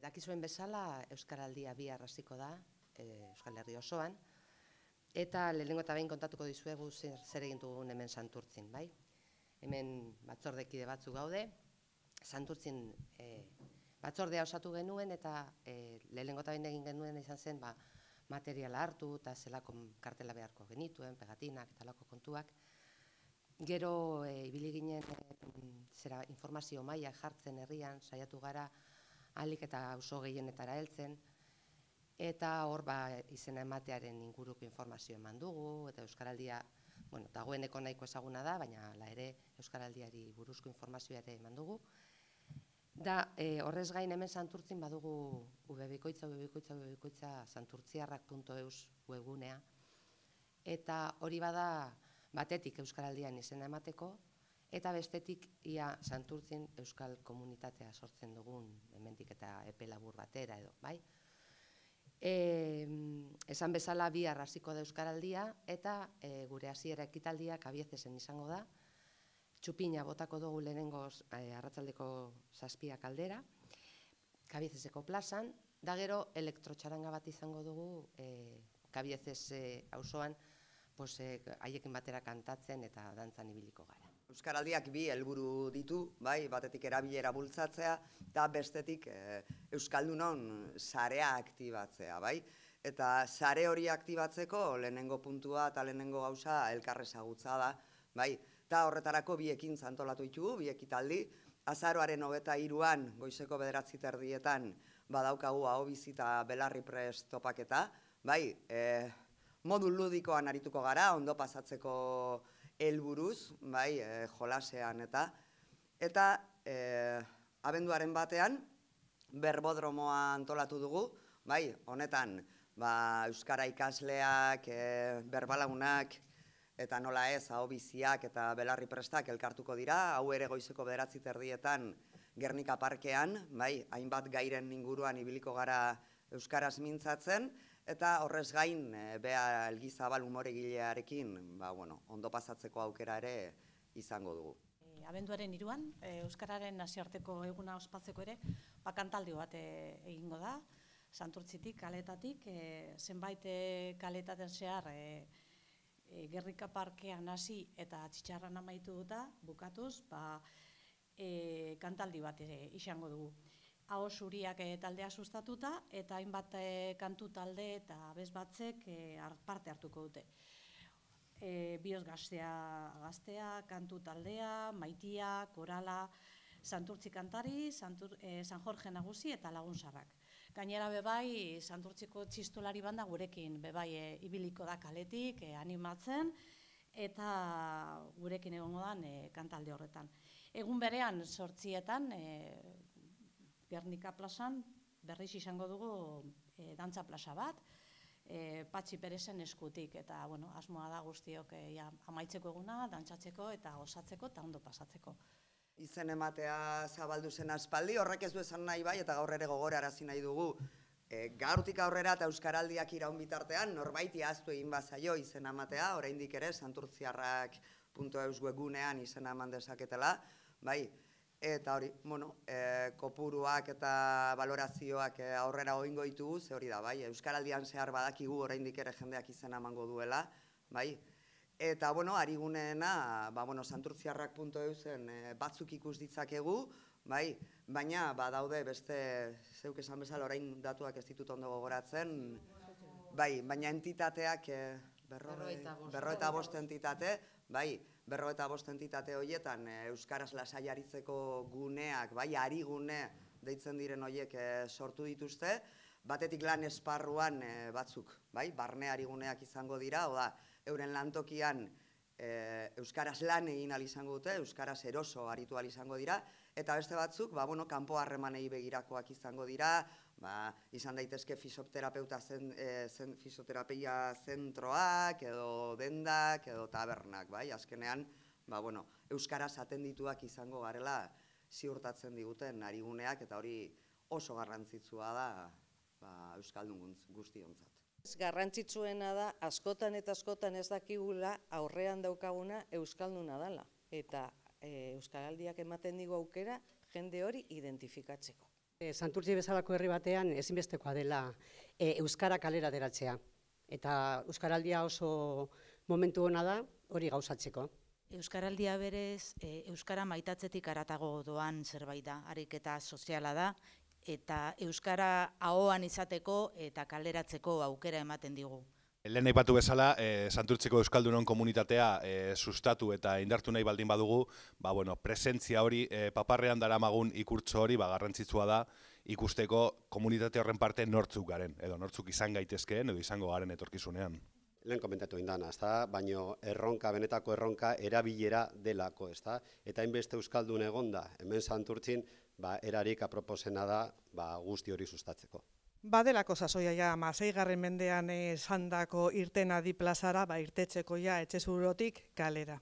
Dakizuen bezala, Euskaraldia bihar hasiko da, Euskal Herri osoan, eta lehenengo eta behin kontatuko dizuegu zer egin dugun hemen Santurtzin, bai? Hemen batzordekide batzuk gaude, Santurtzin batzordea osatu genuen eta lehenengo eta behin egin genuen izan zen materiala hartu eta zelako kartela beharko genituen, pegatinak eta lako kontuak. Gero ibili ginen informazio maila jartzen herrian, saiatu gara ahalik eta auzo gehienetara heltzen, eta hor izena ematearen inguruko informazio eman dugu, eta Euskaraldia, dagoeneko nahiko ezaguna da, baina hala ere Euskaraldiari buruzko informazioa ere eman dugu. Da, horrez gain hemen Santurtzin badugu webikoitza santurtziarrak.eus webgunea, eta hori bada batetik Euskaraldian izena emateko, eta bestetik ia Santurtzin euskal komunitatea sortzen dugun, hemendik eta epe labur batera edo, bai? Esan bezala bihar hasiko da Euskaraldia, eta gure hasiera ekitaldia Kabiezesen izango da. Txupina botako dugu lehenengoz arratsaldeko 7 aldera, Kabiezeseko plazan, da gero elektrotxaranga bat izango dugu Kabiezes auzoan, haiekin batera kantatzen eta dantzan ibiliko gara. Euskaraldiak bi helburu ditu, bai, batetik erabilera bultzatzea, eta bestetik Euskaldunon sarea aktibatzea, bai? Eta sare hori aktibatzeko lehenengo puntua eta lehenengo gauza elkarrezagutza da, bai? Eta horretarako bi ekintza antolatu ditugu, bi ekitaldi, azaroaren 23an goizeko 9:30 badaukagu ahobizi eta belarri prest topaketa, bai, modu ludikoan arituko gara, ondo pasatzeko helburuz, bai, jolasean eta abenduaren batean berbodromoa antolatu dugu, bai, honetan euskara ikasleak, berbalagunak eta nola ez ahobiziak eta belarri prestak elkartuko dira, hau ere goizeko 9:30 Gernika parkean, bai, hainbat gairen inguruan ibiliko gara euskaraz mintzatzen, eta horrez gain, Bea Elgizabal umoregilearekin, ondo pasatzeko aukera ere izango dugu. Abenduaren 3an, Euskararen nazioarteko eguna ospatzeko ere, kantaldi bat egingo da, Santurtzitik, kaletatik, zenbait kaletaten zehar Gernika parkean hasi eta Txitxarran amaitu duta, bukatuz, kantaldi bat izango dugu. Aho zuriak taldea sustatuta eta hainbat kantu talde eta abez batzek parte hartuko dute. Bioz gaztea, kantu taldea, maitia, korala, Santurtzi kantari, San Jorge nagusi eta lagunsarrak. Gainera bebai, Santurtziko txistolari banda gurekin bebai ibiliko da kaletik, animatzen, eta gurekin egongo dan kantalde horretan. Egun berean 8etan, Gernika plazan berriz izango dugu dantza plaza bat, Patxi Perezen eskutik, eta asmoa da guztiok amaitzeko eguna, dantzatzeko eta osatzeko eta ondo pasatzeko. Izen ematea zabaldu zen aspaldi, horrek ez du esan nahi bai, eta gaur ere gogorarazi nahi dugu. Gaurtik aurrera eta Euskaraldiak iraun bitartean, norbaiti ahaztu egin bazaio izen ematea, oraindik ere santurtziarrak.eus webgunean izena eman dezaketela, bai, eta hori, kopuruak eta balorazioak aurrera egingo ditugu, ze hori da, bai, Euskaraldian zehar badakigu oraindik ere jendeak izena emango duela, bai, eta, ariguneena, santurtziarrak.eusen batzuk ikus ditzakegu, bai, baina badaude beste, zeuk esan bezala orain datuak ez ditut ondo gogoratzen, bai, baina entitateak, 55 entitate, bai, 55 entitate horietan euskaraz lasai aritzeko guneak, bai, arigune deitzen diren horiek sortu dituzte, batetik lan esparruan batzuk, bai, barne ariguneak izango dira, oda, euren lantokian euskaraz lan egin ahal izango dute, euskaraz eroso aritu ahal izango dira, eta beste batzuk, kanpo harremanei begirakoak izango dira, izan daitezke fisioterapia zentroak, edo dendak, edo tabernak, bai, azkenean, euskaraz atendituak izango garela ziurtatzen diguten ariguneak, eta hori oso garrantzitsua da euskaldun guztiontzat. Garrantzitsuena da, askotan eta askotan ez dakigula aurrean daukaguna euskalduna dela. Eta Euskaraldiak ematen digu aukera jende hori identifikatzeko. Santurtzi bezalako herri batean ezinbestekoa dela euskara kalera ateratzea. Eta euskaraldia oso momentu ona da hori gauzatzeko. Euskaraldia berez, euskara maitatzetik haratago doan zerbait da, ariketa soziala da, eta euskara ahoan izateko eta kaleratzeko aukera ematen digu. Lehen aipatu bezala, Santurtziko Euskaldunon komunitatea sustatu eta indartu nahi baldin badugu, presentzia hori, paparrean daramagun ikurtso hori garrantzitsua da ikusteko komunitate horren parte nortzuk garen, edo nortzuk izan gaitezkeen, edo izango garen etorkizunean. Lehen komentatu indana, baino erronka, benetako erronka erabilera delako, eta hainbeste euskaldun egonda, hemen Santurtzin, erarik aproposena da guzti hori sustatzeko. Badelako sasoia ja, 16. mendean sandako irten adi plazara, irtetzeko ja etxe zurotik kalera.